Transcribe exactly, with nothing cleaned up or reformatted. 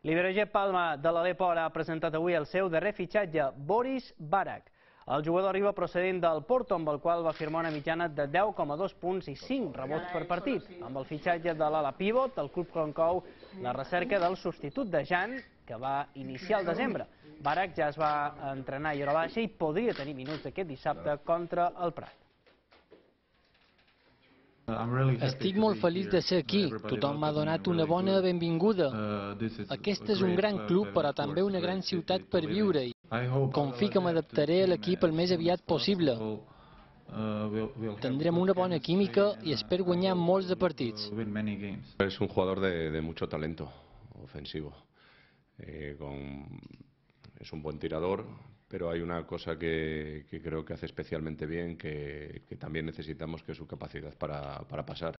L'Iberostar Palma de l'Aleppo ha presentat avui el seu darrer fitxatge, Boris Barak. El jugador arriba procedent del Porto, amb el qual va firmar una mitjana de deu coma dos punts i cinc rebots per partit. Amb el fitxatge de l'ala pivot, el club conclou la recerca del substitut de Jan, que va iniciar el desembre. Barak ja es va entrenar i hora baixa i podria tenir minuts aquest dissabte contra el Prat. Estic molt feliç de ser aquí. Tothom m'ha donat una bona benvinguda. Aquest és un gran club, però també una gran ciutat per viure-hi. Confio que m'adaptaré a l'equip el més aviat possible. Tendrem una bona química i espero guanyar molts de partits. Es un jugador de, de mucho talento ofensivo. Eh, con, es un buen tirador, pero hay una cosa que, que creo que hace especialmente bien, que, que también necesitamos, que es su capacidad para, para pasar.